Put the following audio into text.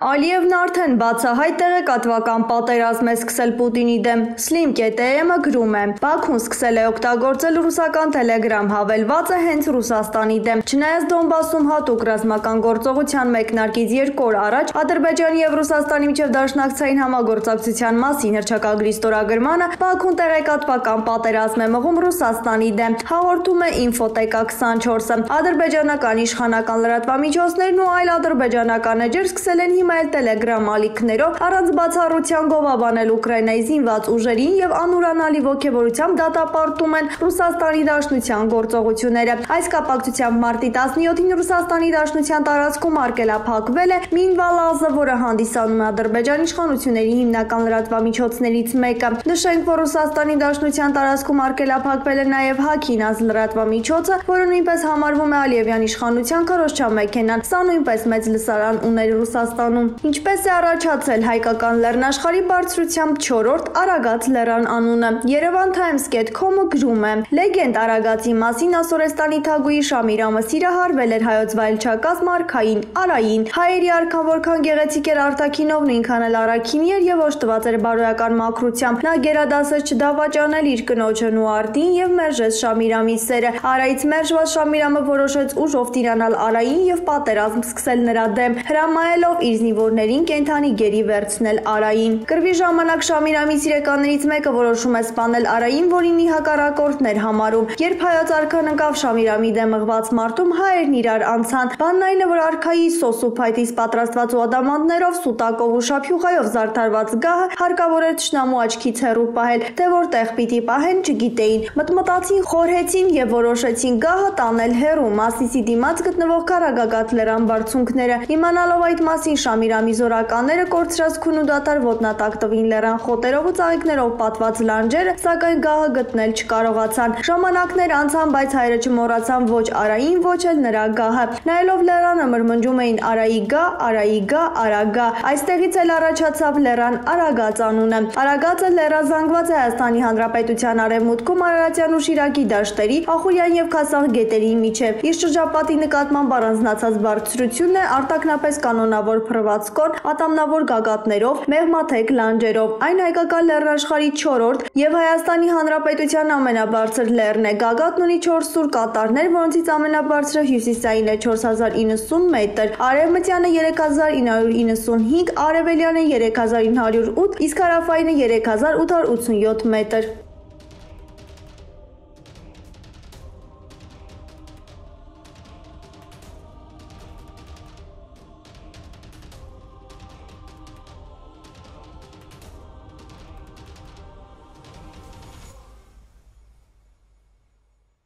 Ալիևն արդեն բացահայտ տեղեկատվական պատերազմ է սկսել Պուտինի դեմ։ Slim.am-ը գրում է. Բաքուն սկսել է օգտագործել ռուսական Telegram հավելվածը հենց Ռուսաստանի դեմ։ Չնայած Դոնբասում հատուկ ռազմական գործողության մեկնարկից 2 օր առաջ Ադրբեջանի եւ Ռուսաստանի միջև դաշնակցային համագործակցության մասին հռչակագրի ստորագրմանը Բաքուն տեղեկատվական պատերազմ է մղում Ռուսաստանի դեմ, հաղորդում է Infoteka 24-ը։ Ադրբեջանական իշխանական լրատվամիջոցներն ու այլ ադրբեջանական էջեր սկսել են Telegram ալիքներով առանց բացառության գովաբանել Ուկրաինայի զինված ուժերին եւ անուրանալի ոգևորությամբ դատապարտում են Ռուսաստանի Դաշնության գործողությունները։ Այս կապակցությամբ մարտի 17-ին Ռուսաստանի Դաշնության տարածքում արգելափակվել է Մինվալազը, որը հանդիսանում է Ադրբեջանի իշխանությունների հիմնական լրատվամիջոցներից մեկը։ Նշենք, որ Ռուսաստանի Դաշնության տարածքում արգելափակվել է նաեւ Հաքինազ լրատվամիջոցը, որը նույնպես համարվում է Ալիևյան իշխանության քարոզչամեքենան։ Սա նույնպես մեծ լսարան ուներ Ռուսաստանում։ Ինչպես է առաջացել հայկական լեռնաշխարհի բարձրությամբ 4-րդ Արագած լեռան անունը։ Yerevantimes.com-ը գրում է. Լեգենդ Արագածի մասին Ասորեստանի թագուհի Շամիրամը սիրահարվել էր հայոց վայելչակաց Մարքային Արային։ Հայերի արքան որքան գեղեցիկ էր արտաքինով, նույնքան էլ առաքինի էր եւ օժտված էր բարոյական մաքրությամբ։ Նա գերադասեց չդավաճանել իր կնոջն ու արտին եւ մերժեց Շամիրամի սերը։ Արայից մերժված Շամիրամը որոշեց ուժով տիրանալ Արային եւ պատերազմ սկսել նրա դեմ, հրամայելով իր զինվորներին կենթանի գերի վերցնել Արային։ Կռվի ժամանակ Շամիրամի սիրեկաններից մեկը որոշում է սպանել Արային, որին ի հակառակորդն էր համարում։ Երբ հայոց արքան ընկավ Շամիրամի դեմ մղված մարտում, հայերն իրար անցան։ Բանն այն է, որ արքայի սոս ու փայտից պատրաստված ու ադամանդներով, սուտակով ու շափյուղայով զարդարված գահը հարկավոր էր թշնամու աչքից հեռու պահել, թե որտեղ պիտի պահեն չգիտեին։ Մտմտացին, խորհեցին եւ որոշեցին գահը տանել հեռու Մասիսի դիմաց գտնվող Կարագագատ լեռան բարձունքները։ Իմանալով այդ մասին Շամիրամի զորականները կորցրած քուն ու դատարկ ոտնատակ տվին լեռան խոտերով ու ծաղիկներով պատված լանջերը, սակայն գահը գտնել չկարողացան։ Ժամանակներ անցան, բայց հայերը չմոռացան ոչ Արային, ոչ էլ նրա գահը։ Նայելով լեռանը մրմնջում էին Արայի գա, Արայի գա, Արագա։ Այստեղից էլ առաջացավ լեռան Արագած անունը։ Արագածը լեռազանգված է Հայաստանի Հանրապետության արևմուտքում Արարատյան ու Շիրակի դաշտերի, Ախուրյան եւ Քասախ գետերի միջև։ Իր շրջապատի նկատմամբ առանձնացած բարձրությունն է արտաքնապես կանոնավոր փռվածքոն, ատամնավոր գագաթներով, մեղմաթեք լանջերով։ Այն հայկական լեռնաշխարհի 4-րդ եւ Հայաստանի Հանրապետության ամենաբարձր լեռն է։ Գագաթն ունի 4 սուր կատարներ, որոնցից ամենաբարձրը հյուսիսային է 4090 մետր, արևմտյանը 3995, արևելյանը 3908, իսկ հարավայինը 3887 մետր։